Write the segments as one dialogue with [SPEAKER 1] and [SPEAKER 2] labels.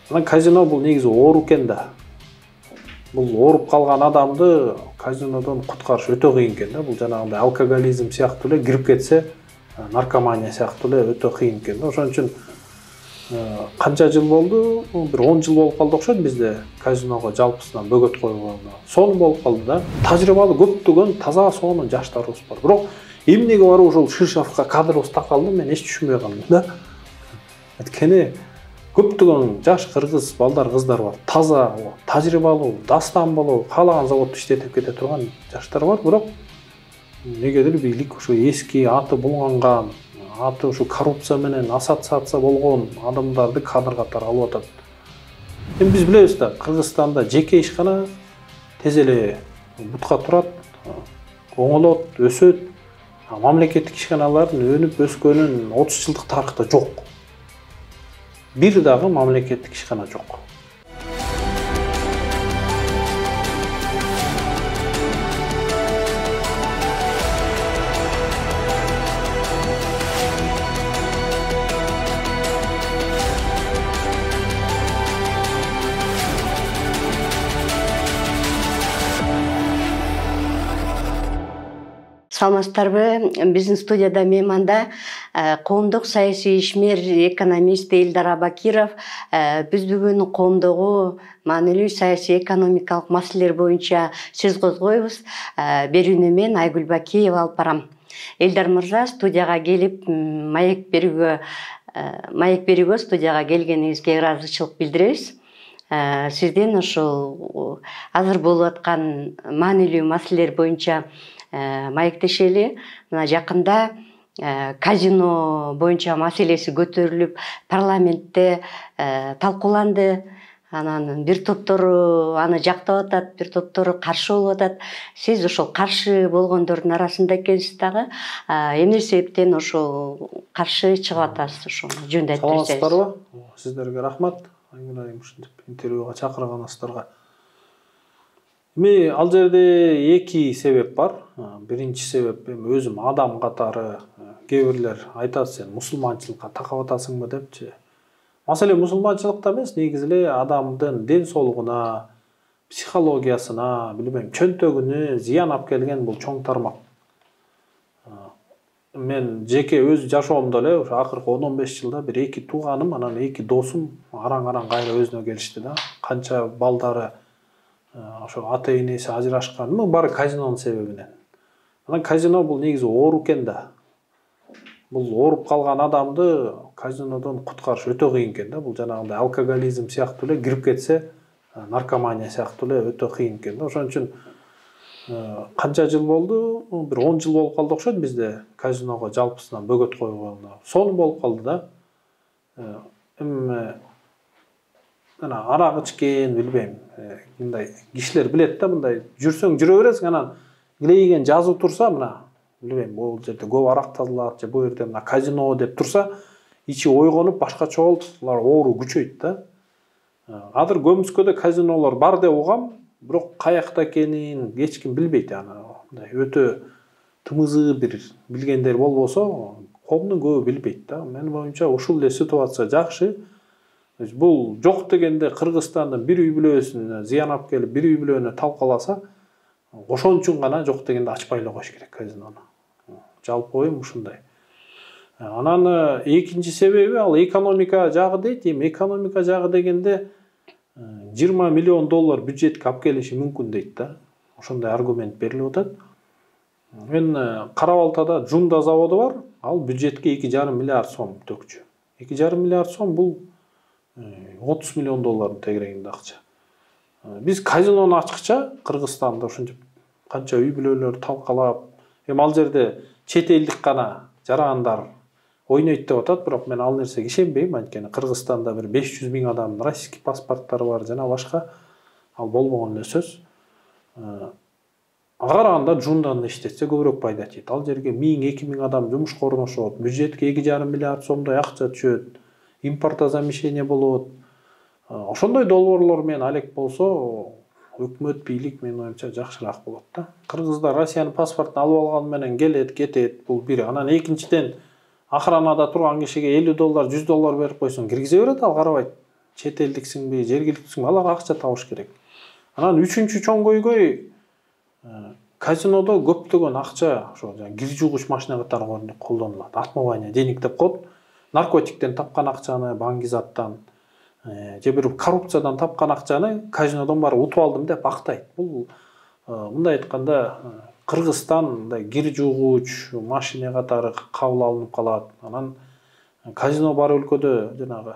[SPEAKER 1] Анан казино бул негизи оор экен да. Бул ооруп калган адамды казинодон куткарыш өтө кыйын экен да. Бул жанагындай алкоголизм сыяктуу эле кирип кетсе, наркомания сыяктуу эле өтө кыйын экен да. Ошон үчүн канча жыл болду? Бир 10 жыл болуп калды окшойт бизде казиного жалпысынан бөгөт койгону. Сонун болуп калды да. Тажрыйбалуу көптөгөн таза сонун жаштарыбыз бар. Бирок эмнеге барып ошол Шишовко кадрыбыз такалды мен эч түшүнбөй калдым да. Анткени көптөгөн жаш кыргыз балдар, кыздар бар. Таза, тажрыйбалуу, дастан болуп, каалаган заводдо иштетип кете турган жаштар бар. Бирок негедир бийлик ушу эски аты булганган, аты ушу коррупция менен ассоциация болгон адамдарды кадр катары алып атат. Эми биз билебиз да, Кыргызстанда жеке ишкана тез эле бутка турат, оңолот, өсөт. Мамлекеттик ишканалардын өнүп өскөнүн 30 жылдык тарыхта жок. Бир дагы мамлекеттик ишкана жок.
[SPEAKER 2] Саламатсыздарбы? Биздин студияда мейманда коомдук саясий ишмер, экономист Элдар Абакиров. Биз бүгүн коомдогу маанилүү саясий экономикалык маселелер боюнча сөз козгойбуз. Берүүнү мен Айгүл Бакиева алып барам. Элдар мырза, студияга келип маек берүүгө студияга келгениңизге ыраазычылык билдиребиз. Сизден ушул азыр болуп аткан маанилүү маселелер боюнча маектешели. Мына жакында казино боюнча маселеси көтөрүлүп, парламентте талкууланды. Анан бир топтору аны жактап атат, бир топтору каршы болуп атат. Сиз ошол каршы болгондордун арасында экенсиз дагы. Эмне себептен ошол каршы чыгып атасыз? Ошону жөнүндө айтып берсеңиз.
[SPEAKER 1] Саламатсыздарбы? Сиздерге рахмат. Айгүл ушинтип интервьюга чакырганыңыздарга. Эми ал жерде эки себеп бар. Биринчи себеп эми өзүм адам катары кээ бирлер айтат, сен мусулманчылыкка такап атасыңбы депчи. Маселе мусулманчылыкта эмес, негизи эле адамдын ден соолугуна, психологиясына, билбейм, чөнтөгүнө зыян алып келген бул чоң тармак. Мен жеке өз жашоомдо эле ушу акыркы 10-15 жылда бир эки тууганым, анан эки досум араң-араң кайра өзүнө келишти да. Канча балдары ошо ата энеси ажырашкан, баары казинонун себебинен. Анан казино бул негизи оор экен да. Бул ооруп калган адамды казинодон куткарыш өтө кыйын экен да. Бул жанагындай алкоголизм сыяктуу эле кирип кетсе, наркомания сыяктуу эле өтө кыйын экен да. Ошон үчүн канча жыл болду? Бир 10 жыл болуп калды окшойт бизде казиного жалпысынан бөгөт койгону. Сонун болуп калды да. Эми ана арак ичкен, билбейм, мындай кишилер билет да, мындай жүрсөң жүрө бересиң, анан илейген жазуу турса, мына билбейм, бул жерде көп арак тазалат же бул жерде мына казино деп турса, ичи ойгонуп башкача болуп, булар оору күчөйт да. Азыр көмүскөдө казинолор бар деп угам, бирок каякта экенин эч ким билбейт. Аны мындай өтө тымызы бир билгендер болбосо, коомдун көбү билбейт да. Менин боюнча ушул эле ситуация жакшы. Бул жок дегенде Кыргызстандын бир үй бүлөсүнө зыян алып келип, бир үй бүлөнү талкаласа, ошон үчүн гана жок дегенде ачпай эле коюш керек казинону. Жалпы оюм ушундай. Анан экинчи себеби ал экономика жагы дейт. Эми экономика жагы дегенде 20 миллион доллар бюджетке алып келиши мүмкүн дейт да. Ошондой аргумент берилип атат. Мен Кара-Балтада Жунда заводу бар. Ал бюджетке 2,5 миллиард сом төкчү. 2,5 миллиард сом бул 30 миллион доллардын тегерегинде акча. Биз казинону ачкыча Кыргызстанда ушинтип канча үй бүлөлөр талкалап, эми ал жерде чет элдик гана жарандар ойнойт деп атат, бирок мен ал нерсеге ишенбейм, анткени Кыргызстанда бир 500 миң адамдын российский паспорттары бар жана башка, ал болбогон эле сөз. Ага караганда Жунданы иштетсе көбүрөөк пайда тийет. Ал жерге 1000-2000 миң адам жумушка орношот, бюджетке 2,5 миллиард сомдой акча түшөт, импортозамещение болот. Ошондой долбоорлор менен алек болсо, өкмөт, бийлик менин оюмча жакшыраак болот да. Кыргыздар Россиянын паспортун алып алган менен келет, кетет, бул бир. Анан экинчиден охранада турган кишиге $50, $100 берип койсоң киргизе берет, ал карабайт. чет элдиксиңби, жергиликтүүсүңбү, алар акча табыш керек. Анан үчүнчү чоң көйгөй казинодо көптөгөн акча ошо кир жуугуч машина катары колдонулат. Отмывание денег деп коет. Наркотиктен тапкан акчаны, баңгизаттан же бир коррупциядан тапкан акчаны казинодон барып утуп алдым деп актайт. Бул мындай айтканда Кыргызстан мындай кир жуугуч машина катары кабыл алынып калат. Анан казино бар өлкөдө жанагы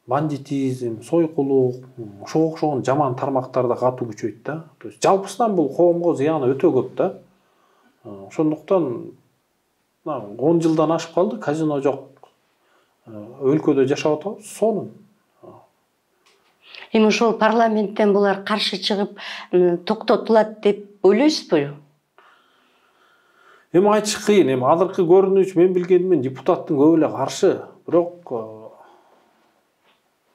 [SPEAKER 1] бандитизм, сойкулук, ошого окшогон жаман тармактар да катуу күчөйт да. То есть жалпысынан бул коомго зыяны өтө көп да. Ошондуктан 10 жылдан ашып калды, казино жок өлкөдө жашап атабыз, сонун.
[SPEAKER 2] Эми ошол парламенттен булар каршы чыгып токтотулат деп ойлойсузбу?
[SPEAKER 1] Эми айтыш кыйын. Эми азыркы көрүнүш мен билгенимен депутаттын көбү эле каршы. Бирок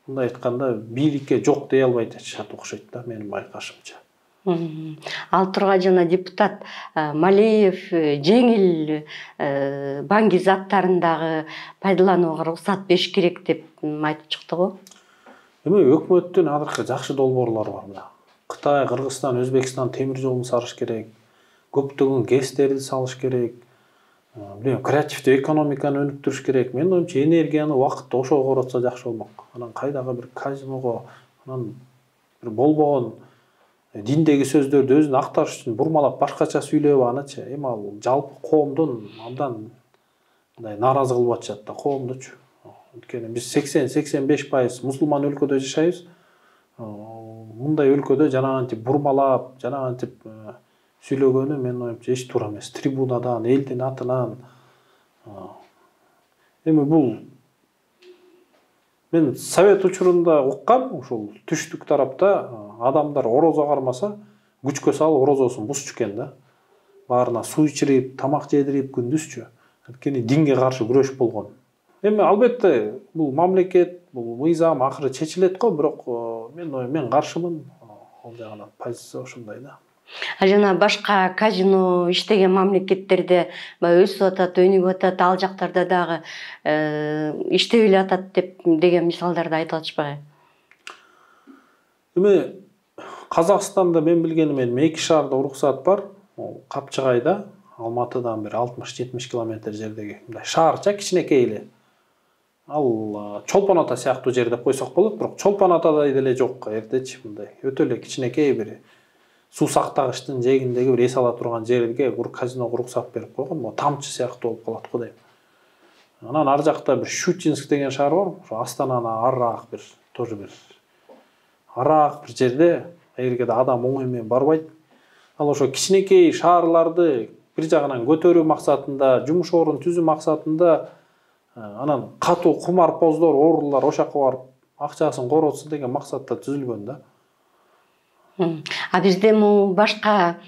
[SPEAKER 1] мындай айтканда бийликке жок дей албай жатышат окшойт да, менин байкашымча.
[SPEAKER 2] Ал тургай жана депутат Малиев жеңил баңги заттарын дагы пайдаланууга уруксат бериш керек деп айтып чыкты го.
[SPEAKER 1] Эми өкмөттүн азыркы жакшы долбоорлору бар. Кытай, Кыргызстан, Өзбекстан темир жолун салыш керек. Көптөгөн ГЭСтерди салыш керек. Креативдүү экономиканы өнүктүрүш керек. Менин оюмча энергияны убакытта ошого коротсо жакшы болмок. Анан кайдагы бир казиного, анан бир болбогон диндеги сөздөрдү өзүн актарыш үчүн бурмалап башкача сүйлөп анычы. Эми ал жалпы коомдун абдан мындай нааразы кылып атышат да, коомдучу. Өйткөнү биз 80-85% мусулман өлкөдө жашайбыз. Мындай өлкөдө жанагынтип бурмалап, жанагынтип сүйлөгөнү менин оюмча эч туура эмес. Трибунадан, элдин атынан. Эми бул мен совет учурунда уккам, ушул түштүк тарапта адамдар орозо кармаса, күчкө салып орозосун бузчу экен да. Баарына суу ичирип, тамак жедирип күндүзчү. Анткени динге каршы күрөш болгон. Эми албетте бул мамлекет, бул мыйзам акыры чечилет го, бирок мен каршымын. Ал жагынан позиция ошондой да.
[SPEAKER 2] Жана башка казино иштеген мамлекеттерде өсүп атат, өнүгүп атат, ал жактарда дагы иштеп эле атат деген мисалдарды айтып атышпайбы?
[SPEAKER 1] Эми Казакстанда мен билгенимен 2 шаарда уруксат бар. Капчыгайда, Алматыдан бир 60-70 километр жердеги мындай шаарча кичинекей эле. Ал Чолпон ата сыяктуу жер деп койсок болот, бирок Чолпон атадай деле жок, эртечи мындай. Өтө эле кичинекей бир суу сактагычтын жээгиндеги бир эс ала турган жерге казиного уруксат берип койгон. Могу тамчы сыяктуу болуп калат го дейм. Анан ар жакта бир Щучинск деген шаар бар. Ошо Астананы арыраак бир, тоже бир араак бир жерде, эгерге да адам оңой менен барбайт. Ал ошо кичинекей шаарларды бир жагынан көтөрүү максатында, жумуш орун түзүү максатында анан катуу кумарпоздор, оорулар ошакка барып акчасын коротсун деген максатта түзүлгөн да.
[SPEAKER 2] А бизде башка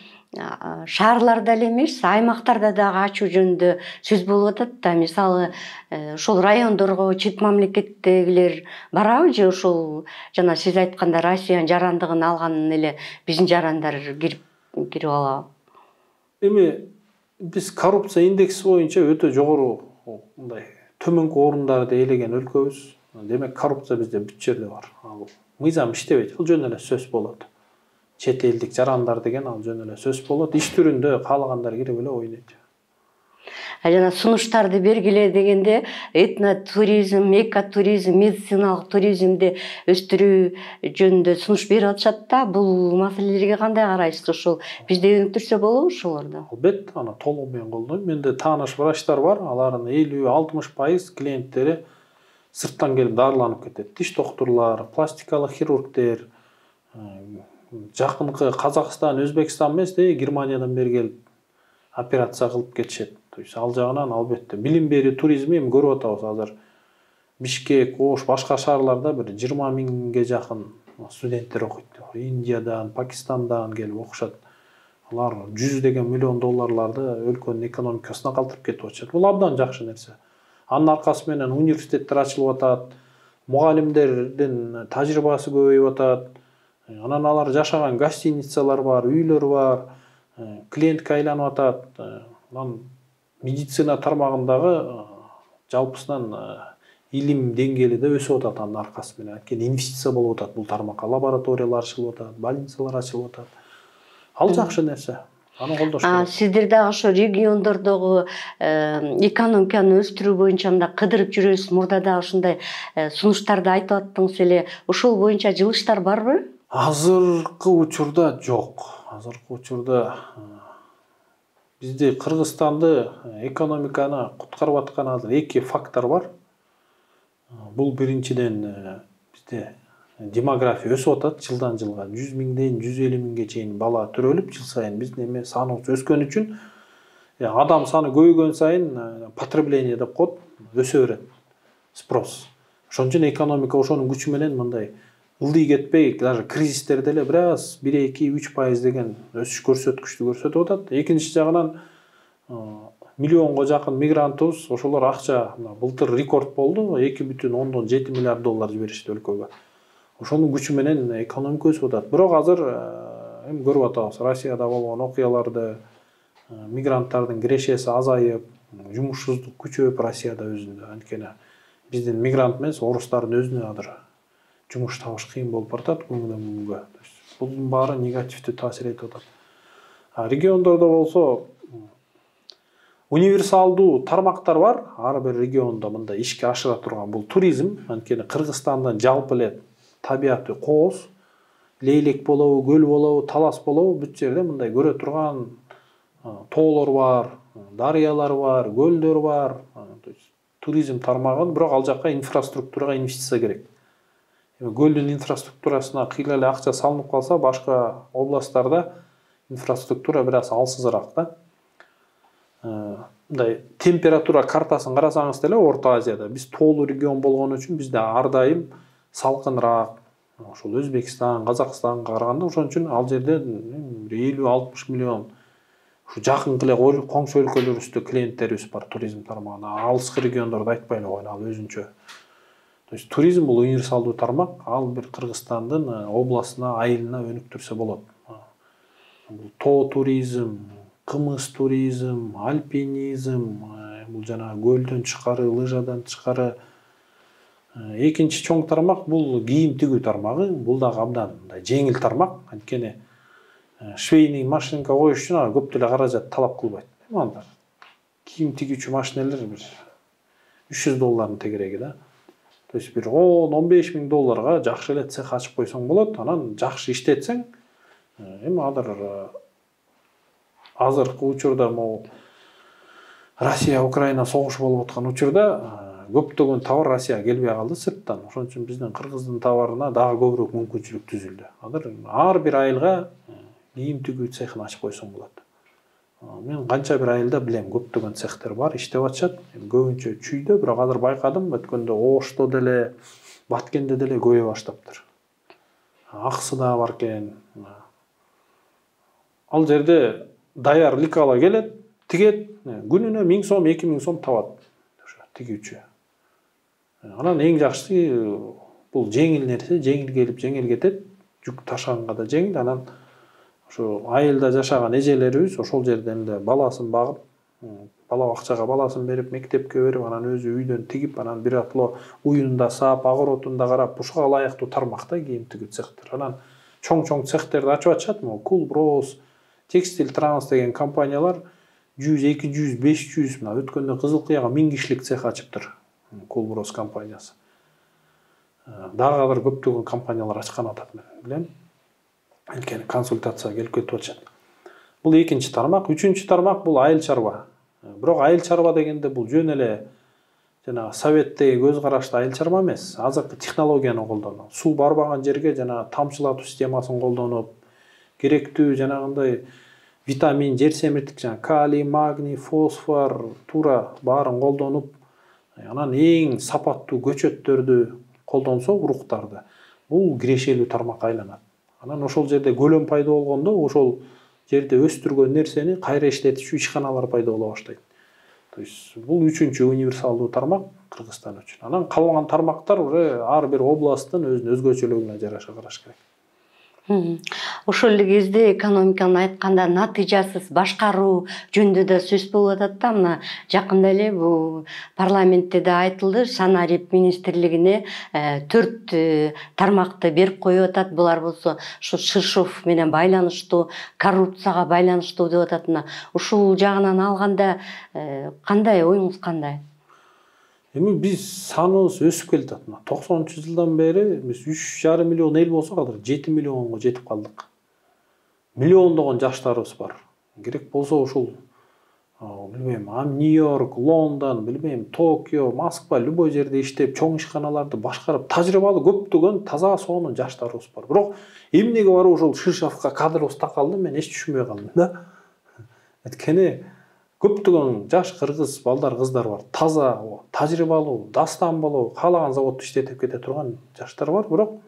[SPEAKER 2] шаарларда эле эмес, аймактарда дагы ачуу жөнүндө сөз болуп атат да. Мисалы, ошол райондорго чет мамлекеттегилер барабы же ошол жана сиз айтканда Россиянын жарандыгын алганын эле биздин жарандар кирип алабы? Эми
[SPEAKER 1] биз коррупция индекси боюнча өтө жогору, мындай төмөнкү орундарды ээлеген өлкөбүз. Демек коррупция бизде бүт жерде бар. Ал мыйзам иштебейт, ал жөн эле сөз болот. Чет элдик жарандар деген ал жөн эле сөз болот. Иш түрүндө каалагандар кирип эле ойнойт.
[SPEAKER 2] Жана сунуштарды бергиле дегенде этнотуризм, экотуризм, медициналык туризмди өстүрүү жөнүндө сунуш берип атышат да. Бул маселелерге кандай карайсыз? Ошол бизде өнүктүрсө болобу ошолорду?
[SPEAKER 1] Албетте, аны толук менен колдойм. Менде тааныш врачтар бар, алардын 50-60% клиенттери сырттан келип дарыланып кетет. Тиш доктурлар, пластикалык хирургдер, жакынкы Казакстан, Өзбекстан эмес, Германиядан бери келип операция кылып кетишет. То есть ал жагынан албетте билим берүү туризми эми көрүп атабыз азыр. Бишкек, Ош, башка шаарларда бир 20 миңге жакын студенттер окуйт. Индиядан, Пакистандан келип окушат. Алар 100 миллион долларларды өлкөнүн экономикасына калтырып кетип атышат. Бул абдан жакшы нерсе. Анын аркасы менен университеттер ачылып атат, мугалимдердин тажрыйбасы көбөйүп атат. Анан алар жашаган гостиницалар бар, үйлөр бар, клиентке айланып атат. Медицина тармагындагы жалпысынан илим деңгээли да өсүп атат анын аркасы менен. Анткени инвестиция болуп атат бул тармакка, лабораториялар ачылып атат, больницалар ачылып атат. Ал жакшы нерсе. Аны колдош керек.
[SPEAKER 2] Сиздер дагы ошо региондордогу экономиканы өстүрүү боюнча мындай кыдырып жүрөсүз. Мурда дагы ушундай сунуштарды айтып аттыңыз эле. Ошол боюнча жылыштар барбы?
[SPEAKER 1] Азыркы учурда жок. Азыркы учурда бизде Кыргызстанды экономиканы куткарып аткан азыр эки фактор бар. Бул биринчиден бизде демография өсүп атат жылдан жылга. 100 миңден 150 миңге чейин бала төрөлүп, жыл сайын биздин эме саныбыз өскөн үчүн адам саны көбөйгөн сайын потребление деп коет, өсө берет. Спрос. Ошон үчүн экономика ошонун күчү менен мындай ылдый кетпей, даже кризистерде эле бир аз 1-2-3% деген өсүш көрсөткүчтү көрсөтүп атат. Экинчи жагынан миллионго жакын мигрантыбыз, ошолор акча былтыр рекорд болду, 2,7 миллиард доллар жиберишти өлкөгө. Ошонун күчү менен экономика өсүп атат. Бирок азыр эми көрүп атабыз, Россияда болгон окуяларды, мигранттардын кирешеси азайып, жумушсуздук күчөп Россияда өзүндө. Анткени биздин мигрант эмес, орустардын өзүнө азыр жумуш табыш кыйын болуп баратат күнгөн күнгө. Бунун баары негативдүү таасир этип атат. Региондордо болсо универсалдуу тармактар бар. Ар бир региондо мындай ишке ашыра турган бул туризм. Анткени Кыргызстандын жалпы эле табияты кооз, лейлек болобу, көл болобу, талас болобу, бүт жерде мындай көрө турган тоолор бар, дарыялар бар, көлдөр бар. Туризм тармагын, бирок ал жакка инфраструктурага инвестиция керек. Көлдүн инфраструктурасына кыйла эле акча салынып калса, башка областтарда инфраструктура бир аз алсызыраак да. Мындай температура картасын карасаңыз деле Орто Азияда биз тоолуу регион болгон үчүн бизде ар дайым салкыныраак. Ошол Өзбекстан, Казакстанга караганда, ошон үчүн ал жерде 50-60 миллион ушу жакынкы эле коңшу өлкөлөрүбүздө клиенттерибиз бар туризм тармагына. Алыскы региондорду айтпай эле коелу, ал өзүнчө. То есть туризм бул универсалдуу тармак, ал бир Кыргызстандын областына, айылына өнүктүрсө болот. Бул тоо туризм, кымыз туризм, альпинизм, бул жана көлдөн тышкары, лыжадан тышкары. Экинчи чоң тармак бул кийим тигүү тармагы. Бул дагы абдан жеңил тармак. Анткени швейный машинка коюш үчүн көп деле каражат талап кылбайт. Анда кийим тигүүчү машинелер бир $300 тегереги да. То есть бир 10-15 миң долларга жакшы эле цех ачып койсоң болот. Анан жакшы иштетсең, эми азыркы учурда могу Россия Украина согушу болуп аткан учурда көптөгөн товар Россияга келбей калды сырттан. Ошон үчүн биздин Кыргыздын товарына дагы көбүрөөк мүмкүнчүлүк түзүлдү. Азыр ар бир айылга кийим тигүү цехин ачып койсоң болот. Мен канча бир айылда билем, көптөгөн цехтер бар, иштеп атышат. Көбүнчө чүйдө, бирок азыр байкадым, өткөндө Ошто деле, Баткенде деле көбөйө баштаптыр. Аксыда бар экен. Ал жерде даяр ликала келет, тигет, күнүнө 1000 сом, 2000 сом табат тигүүчү. Анан эң жакшысы бул жеңил нерсе, жеңил келип, жеңил кетет, жүк ташаганга да жеңил. Анан ошо айылда жашаган эжелерибиз ошол жерден эле баласын багып, бала бакчага баласын берип, мектепке берип, анан өзү үйдөн тигип, анан биратло уюнда саап, огоротунда карап, ушуга ылайыктуу тармакта кийим тигүү цехтер. Анан чоң цехтерди ачып атышат, Кулброс, Текстиль Транс деген компаниялар 100, 200, 500, мына өткөндө Кызыл Кыяга 1000 кишилик цех ачыптыр. Кулброс компаниясы. Дагы азыр көптөгөн компаниялар ачкан атат, мен билем. Анткени консультацияга келип кетип атышат. Бул экинчи тармак. Үчүнчү тармак бул айыл чарба. Бирок айыл чарба дегенде бул жөн эле жана советтеги көз карашты айыл чарба эмес. Азыркы технологияны колдонуп, суу барбаган жерге жана тамчылатуу системасын колдонуп, керектүү жанагындай витамин, жер семиртик, жана калий, магний, фосфор, тура баарын колдонуп, анан эң сапаттуу көчөттөрдү колдонсо, уруктарды, бул кирешелүү тармакка айланат. Анан ошол жерде көлөм пайда болгондо, ошол жерде өстүргөн нерсени кайра иштетүүчү ишканалар пайда боло баштайт. То есть бул үчүнчү универсалдуу тармак Кыргызстан үчүн. Анан калган тармактар уже ар бир областтын өзүнүн өзгөчөлүгүнө жараша караш керек.
[SPEAKER 2] Ошол эле кезде экономиканы айтканда натыйжасыз башкаруу жөнүндө да сөз болуп атат да. Мына жакында эле бул парламентте да айтылды, санарип министрлигине 4 тармакты берип коюп атат. Булар болсо ушу Шишов менен байланыштуу, коррупцияга байланыштуу деп атат. Мына ушул жагынан алганда кандай оюңуз кандай?
[SPEAKER 1] Эми биз саныбыз өсүп келатат. 90-жылдан бери биз 3,5 миллион эл болсок, азыр 7 миллионго жетип калдык. Миллиондогон жаштарыбыз бар. Керек болсо ушул билбейм, Нью-Йорк, Лондон, билбейм, Токио, Москва, любой жерде иштеп, чоң ишканаларды башкарып, тажрыйбалуу көптөгөн таза сонун жаштарыбыз бар. Бирок эмнеге барып ошол Шишовго кадрыбыз такалды, мен эч түшүнбөй калдым да. Эткени көптөгөн жаш кыргыз балдар, кыздар бар. Таза, тажрыйбалуу, дастан болуп, каалаган заводдо иштетип кете турган жаштар бар. Бирок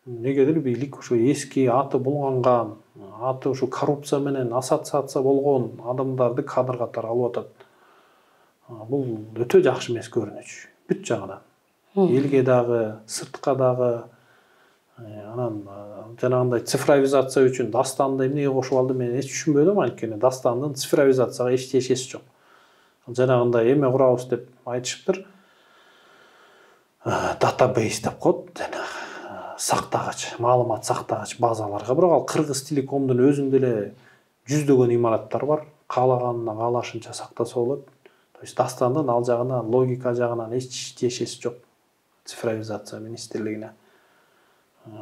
[SPEAKER 1] негедир бийлик ушу эски аты булганган, аты ушу коррупция менен ассоциация болгон адамдарды кадр катары алып атат. Бул өтө жакшы эмес көрүнүш. Бүт жагынан. Элге дагы, сыртка дагы. Анан жанагындай цифровизация үчүн дастанды эмнеге кошуп алды, мен эч түшүнбөдүм. Анткени дастандын цифровизацияга эч тиешеси жок. Жанагындай эме курабыз деп айтышыптыр. Датабейс деп коет. Сактагач, маалымат сактагач базаларга. Бирок ал Кыргыз Телекомдун өзүндө эле жүздөгөн имараттар бар. Каалаганына каалашынча сактаса болот. То есть дастандын ал жагынан, логика жагынан эч тиешеси жок цифровизация министрлигине.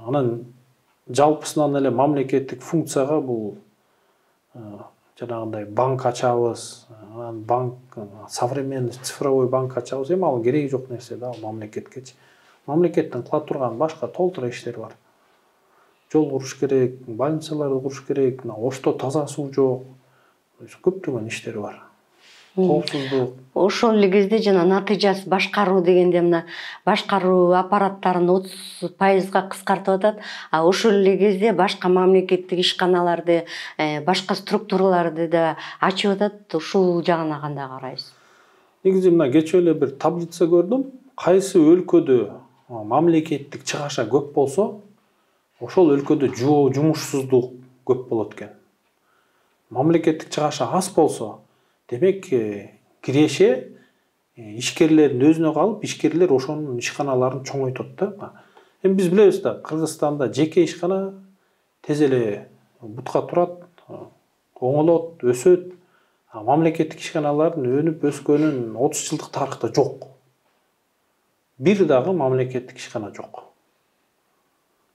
[SPEAKER 1] Анан жалпысынан эле мамлекеттик функцияга бул жанагындай банк ачабыз, анан банк современный цифровой банк ачабыз, эми ал кереги жок нерсе да, мамлекеткечи. Мамлекеттин кыла турган башка толтура иштери бар. Жол куруш керек, больницаларды куруш керек, Ошто таза суу жок. Көптөгөн иштери бар. Коопсуздук.
[SPEAKER 2] Ошол эле кезде жана натыйжасы башкаруу дегенде мына башкаруу аппараттарын 30% кыскартып атат. А ошол эле кезде башка мамлекеттик ишканаларды, башка структураларды да ачып атат. Ушул жагына кандай карайсыз?
[SPEAKER 1] Негизи мына кечээ эле бир таблица көрдүм. Кайсы өлкөдө мамлекеттик чыгаша көп болсо, ошол өлкөдө жумушсуздук көп болот экен. Мамлекеттик чыгаша аз болсо, демек киреше ишкерлердин өзүнө калып, ишкерлер ошонун ишканаларын чоңойтот да. Эми биз билебиз да, Кыргызстанда жеке ишкана тез эле бутка турат, оңолот, өсөт. Мамлекеттик ишканалардын өнүп өскөнүн 30 жылдык тарыхта жок. Бир дагы мамлекеттик ишкана жок.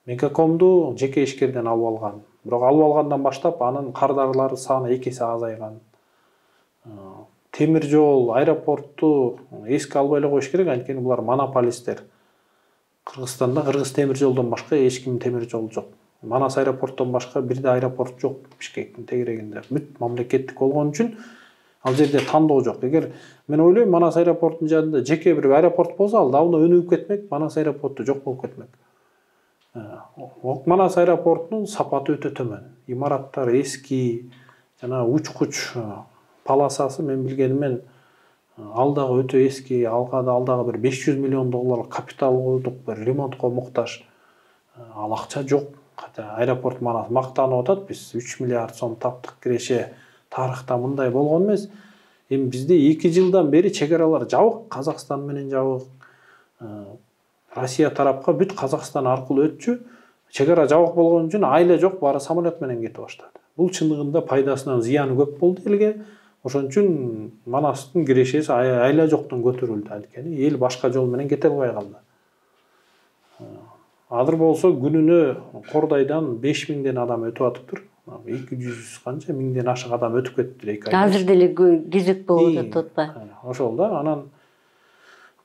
[SPEAKER 1] Мегакомду жеке ишкерден алып алган. Бирок алып алгандан баштап анын кардарлары саны 2 эсе азайган. Темир жол, аэропортту эске албай эле коюш керек, анткени булар монополисттер. Кыргызстанда Кыргыз темир жолдон башка эч кимдин темир жолу жок. Манас аэропорттон башка бир да аэропорт жок Бишкектин тегерегинде. Бүт мамлекеттик болгон үчүн ал жерде тандоо жок. Эгер мен ойлойм, Манас аэропорттун жанында жеке бир аэропорт болсо, ал давно өнүгүп кетмек, Манас аэропорту жок болуп кетмек. Манас аэропортунун сапаты өтө төмөн. Имараттар эски, жана учкуч полосасы мен билгенимен ал дагы өтө эски, алга дагы бир 500 миллион доллар капитал койдук, бир ремонтко муктаж. Ал акча жок. Аэропорт Манас мактанып атат, биз 3 миллиард сом таптык киреше, тарыхта мындай болгон эмес. Эми бизде 2 жылдан бери чек аралар жабык, Казакстан менен жабык. Россия тарапка бүт Казакстан аркылуу өтчү. Чек ара жабык болгон үчүн айла жок, баары самолет менен кетип баштады. Бул чындыгында пайдасынан зыяны көп болду элге. Ошон үчүн Манастын кирешеси айла жоктон көтөрүлдү, анткени эл башка жол менен кете албай калды. Азыр болсо күнүнө Кордайдан 5000ден адам өтүп атыптыр. 200 канча миңден ашык адам өтүп кетти 2 айда.
[SPEAKER 2] Азыр деле кезек болуп атат атпайбы?
[SPEAKER 1] Ошол да. Анан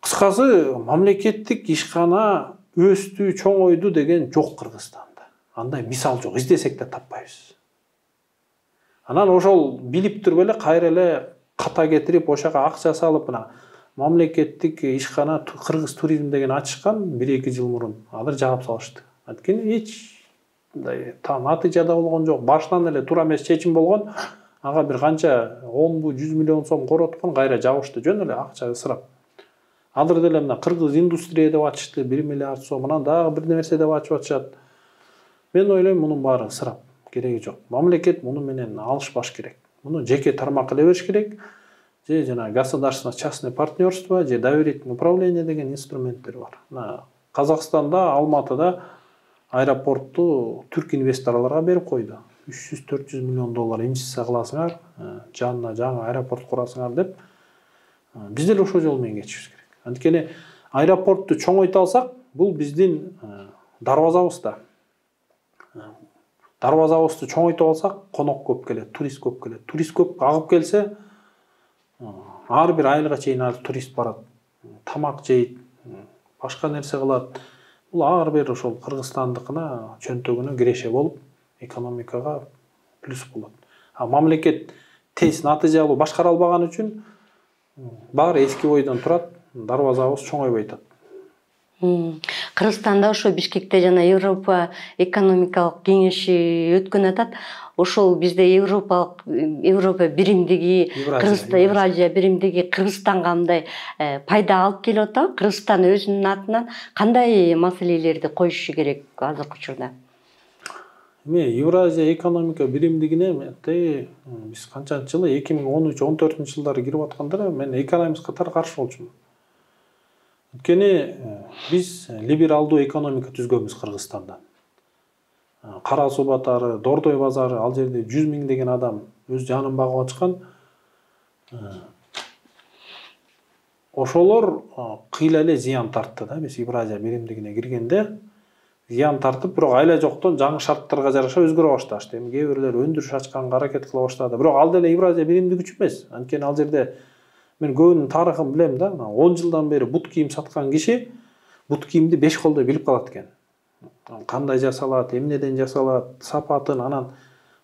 [SPEAKER 1] кыскасы мамлекеттик ишкана өстү, чоңойду деген жок Кыргызстанда. Андай мисал жок, издесек да таппайбыз. Анан ошол билип туруп эле кайра эле ката кетирип, ошого акча салып, мына мамлекеттик ишкана Кыргыз туризм деген ачышкан 1-2 жыл мурун. Азыр жаап салышты. Анткени эч натыйжада болгон жок. Башынан эле туура эмес чечим болгон. Ага бир канча 10-100 миллион сом короткон, кайра жабышты, жөн эле акча ысырап. Азыр деле мына Кыргыз индустрия деп ачышты, 1 миллиард сом, анан дагы бир нерсе деп ачып атышат. Мен ойлойм мунун баары ысырап, кереги жок. Мамлекет муну менен алышпаш керек. Муну жеке тармак эле бериш керек. Же жана государственно частное партнерство, же доверительное управление деген инструменттер бар. Казакстанда Алматыда аэропортту түрк инвесторлорго берип койду. 300-400 миллион доллар инвестиция кыласыңар, жанына жаңы аэропорт курасыңар деп. Биз деле ошол жол менен кетишибиз керек. Анткени аэропортту чоңойто алсак, бул биздин дарбазабыз да. Дарбазабызды чоңойто алсак, конок көп келет, турист көп келет. Турист көп агып келсе, ар бир айылга чейин турист барат, тамак жейт, башка нерсе кылат. Бул ар бир ошол Кыргызстандыкына чөнтөгүнө киреше болуп, экономикага плюс болот. Мамлекет тез натыйжа алуу башкара албаган үчүн баары эски бойдон турат, дарбазабыз чоңойбой атат.
[SPEAKER 2] Кыргызстанда ошо Бишкекте жана Европа экономикалык кеңеши өткөн атат. Ошол бизде Европа биримдиги, Евразия биримдиги Кыргызстанга мындай пайда алып келип атабы? Кыргызстан өзүнүн атынан кандай маселелерди коюшу керек азыркы учурда?
[SPEAKER 1] Евразия экономика биримдигине биз канчанчы жылы 2013-14 жылдары кирип атканда мен экономист катары каршы болчумун. Анткени биз либералдуу экономика түзгөнбүз Кыргызстанда. Кара Суу батары, Дордой базары, ал жерде 100 миңдеген адам өз жанын багып ачкан. Ошолор кыйла эле зыян тартты да, биз Евразия биримдигине киргенде зыян тартып, бирок айла жоктон жаңы шарттарга жараша өзгөрө башташты. Эми кээ бирлер өндүрүш ачканга аракет кыла баштады. Бирок ал деле Евразия биримдиги үчүн эмес. Анткени ал жерде мен көбүнүн тарыхын билем да. 10 жылдан бери бут кийим саткан киши бут кийимди 5 колдой билип калат экен. Кандай жасалат, эмнеден жасалат, сапатын анан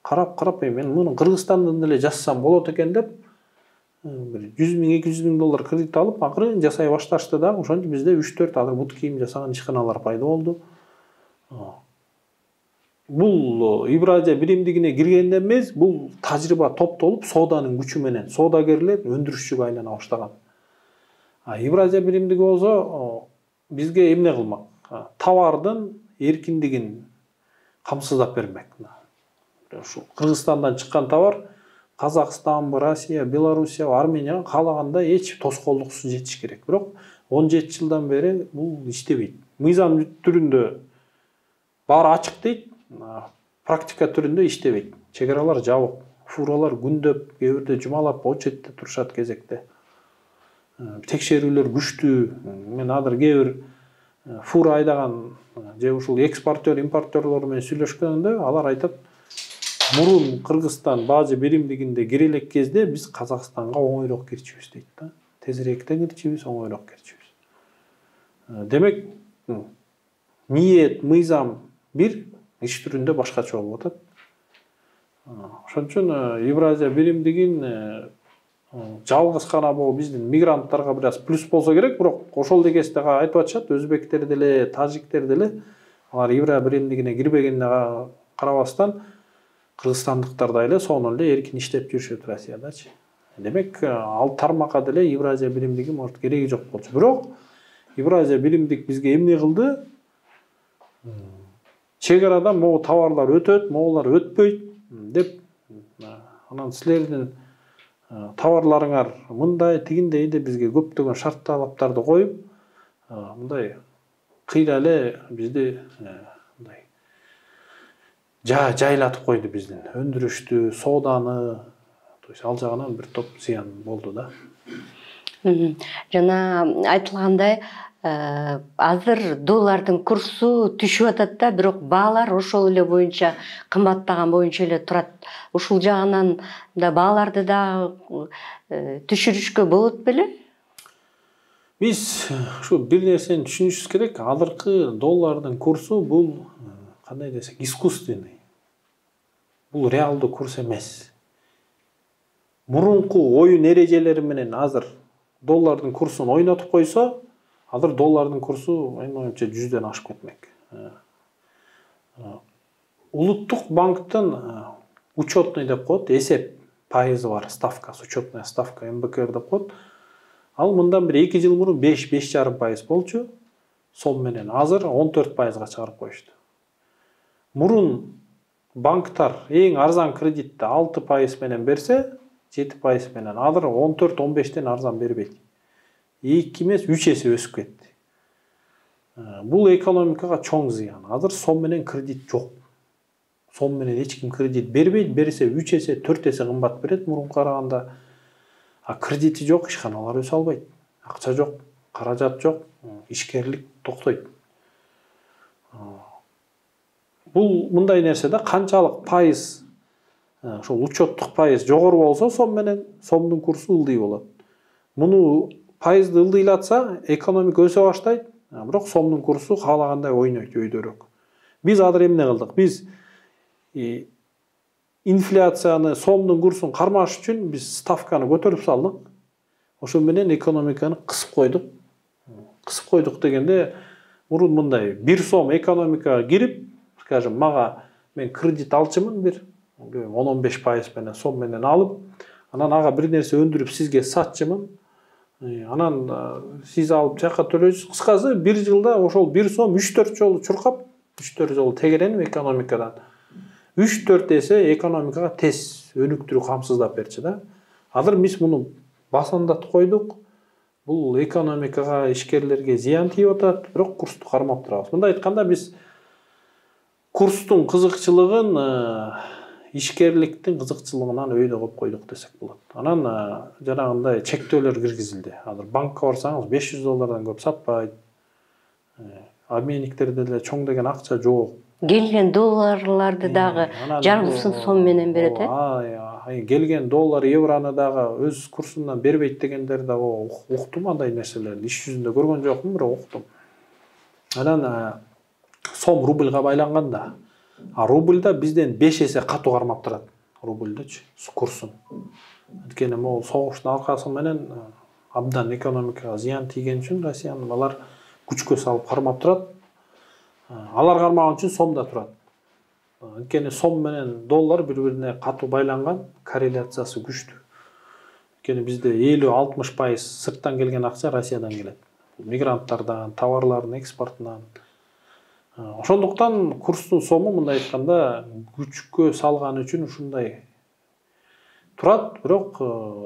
[SPEAKER 1] карап мен муну Кыргызстандан деле жасасам болот экен деп бир 100 миң, 200 миң доллар кредит алып, акырын жасай башташты да. Ошентип бизде 3-4 азыр бут кийим жасаган ишканалар пайда болду. Бул Евразия биримдигине киргенден эмес, бул тажрыйба топтолуп, сооданын күчү менен соодагерлер өндүрүшчүгө айлана баштаган. Евразия биримдиги болсо бизге эмне кылмак? Товардын эркиндигин камсыздап бермек. Ушу Кыргызстандан чыккан товар Казакстанбы, Россия, Белоруссия, Арменияга каалагандай эч тоскоолдуксуз жетиш керек. Бирок 17 жылдан бери бул иштебейт. Мыйзам түрүндө баары ачык дейт, практика түрүндө иштебейт. Чек аралар жабык, фуралар күндөп, кээ бирде жумалап очередде турушат кезекте. Текшерүүлөр күчтүү. Мен азыр кээ бир фура айдаган же ушул экспортер, импортерлор менен сүйлөшкөндө алар айтат, мурун Кыргызстан бажы биримдигинде кире элек кезде биз Казакстанга оңойрок кирчүбүз дейт да. Тезирээк кирчүбүз, оңойрок кирчүбүз. Демек, ниет, мыйзам бир, иш түрүндө башкача болуп атат. Ошон үчүн Евразия биримдигин жалгыз гана бул биздин мигранттарга бир аз плюс болсо керек, бирок ошол дегесте айтып атышат, өзбектер деле, тажиктер деле алар Евразия биримдигине кирбегенине карабастан кыргызстандыктар эле сонун эле эркин иштеп жүрүшөт Россиядачы. Демек, ал тармакка деле Евразия биримдиги может кереги жок болчу. Бирок Евразия биримдик бизге эмне кылды? Чек арадан могу товарлар өтөт, могулар өтпөйт деп, анан силердин товарларыңар мындай, тигиндей деп бизге көптөгөн шарт талаптарды коюп, мындай кыйла эле бизди мындай жайлатып койду биздин өндүрүштү, сооданы. То есть ал жагынан бир топ зыян болду да.
[SPEAKER 2] Жана айтылгандай, азыр доллардын курсу түшүп атат да, бирок баалар ошол эле боюнча кымбаттаган боюнча эле турат. Ушул жагынан да бааларды да түшүрүшкө болот беле?
[SPEAKER 1] Биз ушу бир нерсени түшүнүшүбүз керек. Азыркы доллардын курсу бул кандай десек, искусственный. Бул реалдуу курс эмес. Мурунку оюн эрежелери менен азыр доллардын курсун ойнотуп койсо, азыр доллардын курсу менин оюмча 100ден ашып кетмек. Улуттук банктын учетный деп коет, эсеп пайызы бар, ставкасы, учетная ставка МБКР деп коет. Ал мындан бир 2 жыл мурун 5,5% болчу, сом менен азыр 14%га чыгарып коюшту. Мурун банктар эң арзан кредитти 6% менен берсе, 7% менен, азыр 14-15тен арзан бербейт. 2 эмес 3 эсе өсүп кетти. Бул экономикага чоң зыян. Азыр сом менен кредит жок. Сом менен эч ким кредит бербейт, берсе 3 эсе, 4 эсе кымбат берет мурунга караганда. А кредити жок, ишканалар өсө албайт. Акча жок, каражат жок, ишкерлик токтойт. Бул мындай нерсе да, канчалык пайыз, ошол учеттук пайыз жогору болсо, сом менен сомдун курсу ылдый болот. Муну пайызды ылдыйлатса, экономика өсө баштайт, бирок сомдун курсу каалагандай ойнойт, өйдөрөөк. Биз азыр эмне кылдык? Биз инфляцияны, сомдун курсун кармаш үчүн биз ставканы көтөрүп салдык. Ошо менен экономиканы кысып койдук. Кысып койдук дегенде, мурун мындай 1 сом экономикага кирип, скажем, мага мен кредит алчымын бир 10-15% менен сом менен алып, анан ага бир нерсе өндүрүп сизге сатчымын. Анан сиз алып жакка төлөйсүз. Кыскасы, бир жылда ошол 1 сом 3-4 жолу чуркап, 3-4 жолу тегеренип экономикадан 3-4 эсе экономикага тез өнүктүрүү камсыздап берчү да. Азыр биз муну басындатып койдук. Бул экономикага, ишкерлерге зыян тийип атат, бирок курсту кармап турабыз. Мындай айтканда, биз курстун кызыкчылыгын ишкерликтин кызыкчылыгынан өйдө коюп койдук десек болот. Анан жанагындай чектөөлөр киргизилди. Азыр банкка барсаңыз $500 көп сатпайт. Обменниктерде деле чоң деген акча жок.
[SPEAKER 2] Келген долларларды дагы жарымсын сом менен берет,
[SPEAKER 1] келген доллар, евроны дагы өз курсунан бербейт дегендер да уктум андай нерселерди. Иш жүзүндө көргөн жокмун, бирок уктум. Анан сом рубльга байланганда, рубльда бизден 5 эсе катуу кармап турат. Рубльдечи курсун. Анткени могул согуштун аркасы менен абдан экономикага зыян тийген үчүн Россиянын алар күчкө салып кармап турат. Алар кармаган үчүн сом да турат. Анткени сом менен доллар бири-бирине катуу байланган, корреляциясы күчтүү. Анткени бизде 50-60% сырттан келген акча Россиядан келет. Мигранттардан, товарлардын экспортунан. Ошондуктан курстун сому мындай айтканда күчкө салган үчүн ушундай турат, бирок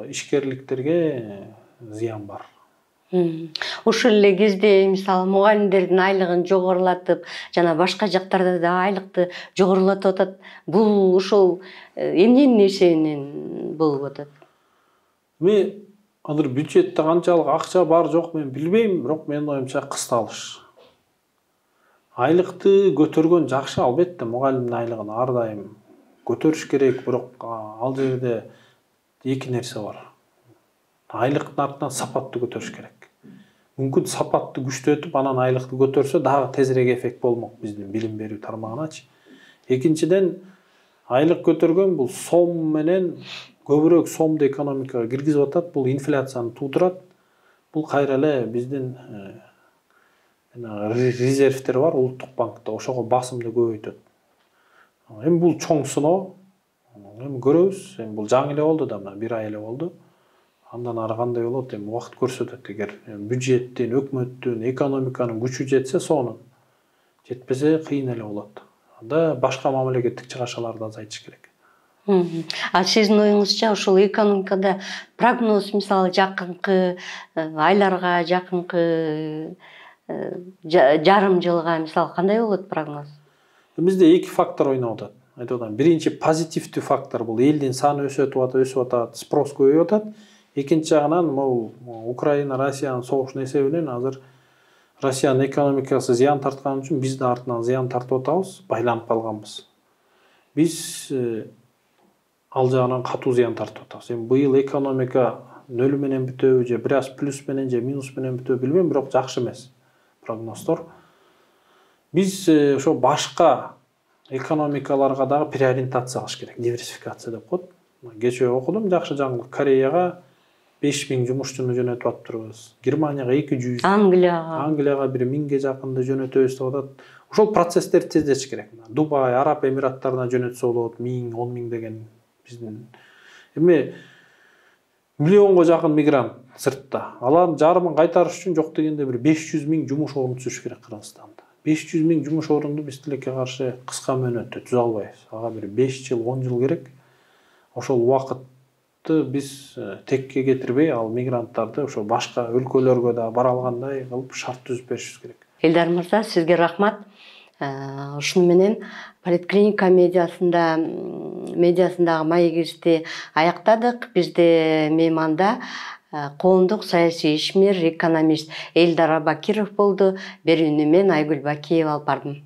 [SPEAKER 1] ишкерликтерге зыян бар.
[SPEAKER 2] Ушул эле кезде мисалы мугалимдердин айлыгын жогорулатып, жана башка жактарда да айлыкты жогорулатып атат. Бул ошол эмненин эсебинен болуп атат?
[SPEAKER 1] Мен азыр бюджетте канчалык акча бар жок мен билбейм, бирок менин оюмча кысталыш. Айлыкты көтөргөн жакшы, албетте мугалимдин айлыгын ар дайым көтөрүш керек, бирок ал жерде эки нерсе бар. Айлыктын артынан сапатты көтөрүш керек. Мүмкүн сапатты күчтөтүп, анан айлыкты көтөрсө дагы тезирээк эффект болмок биздин билим берүү тармагыначы. Экинчиден, айлык көтөргөн бул сом менен көбүрөөк сомду экономикага киргизип атат, бул инфляцияны туудурат. Бул кайра эле биздин резервтер бар улуттук банкта, ошого басымды көбөйтөт. Эми бул чоң сыноо. Эми көрөбүз. Эми бул жаңы эле болду да, мына 1 ай эле болду. Андан ары кандай болот, эми убакыт көрсөтөт. Эгер бюджеттин, өкмөттүн, экономиканын күчү жетсе сонун. Жетпесе кыйын эле болот. Анда башка мамлекеттик чыгашаларды азайтыш керек.
[SPEAKER 2] А сиздин оюңузча ушул экономикада прогноз, мисалы жакынкы айларга, жакынкы жарым жылга мисалы кандай болот прогноз?
[SPEAKER 1] Бизде эки фактор ойноп атат. Айтып атам, биринчи позитивдүү фактор бул элдин саны өсүп атат, спрос көбөйүп атат. Экинчи жагынан могу Украина, Россиянын согушунун эсебинен азыр Россиянын экономикасы зыян тарткан үчүн биз да артынан зыян тартып атабыз, байланып калганбыз. Биз ал жагынан катуу зыян тартып атабыз. Эми быйыл экономика нөл менен бүтөбү же бир аз плюс менен же минус менен бүтөбү билбейм, бирок жакшы эмес прогноздор. Биз ошо башка экономикаларга дагы переориентация кылыш керек, диверсификация деп коет. Кечээ окудум, жакшы жаңылык. Кореяга 5000 жумушчуну жөнөтүп атпырбыз. Германияга 200, Англияга бир 1000ге жакынды жөнөтөбүз деп атат. Ошол процесстерди тездетиш керек. Дубай, Араб Эмираттарына жөнөтсө болот, 1000, 10.000 деген биздин. Эми миллионго жакын мигрант сыртта. Алардын жарымын кайтарыш үчүн жок дегенде бир 500.000 жумуш орун түзүш керек Кыргызстанда. 500 000 жумуш орунду биз тилекке каршы кыска мөөнөттө түзө албайбыз. Ага бир 5 жыл, 10 жыл керек. Ошол убакытты биз текке кетирбей, ал мигранттарды ошо башка өлкөлөргө да бара алгандай кылып шарт түзүп беришибиз керек.
[SPEAKER 2] Элдар мырза, сизге рахмат. Ушуну менен Политклиника медиасындагы маегибизди аяктадык. Бизде мейманда коомдук саясий ишмер, экономист Элдар Абакиров болду. Берүүнү мен Айгүл Бакиева алып бардым.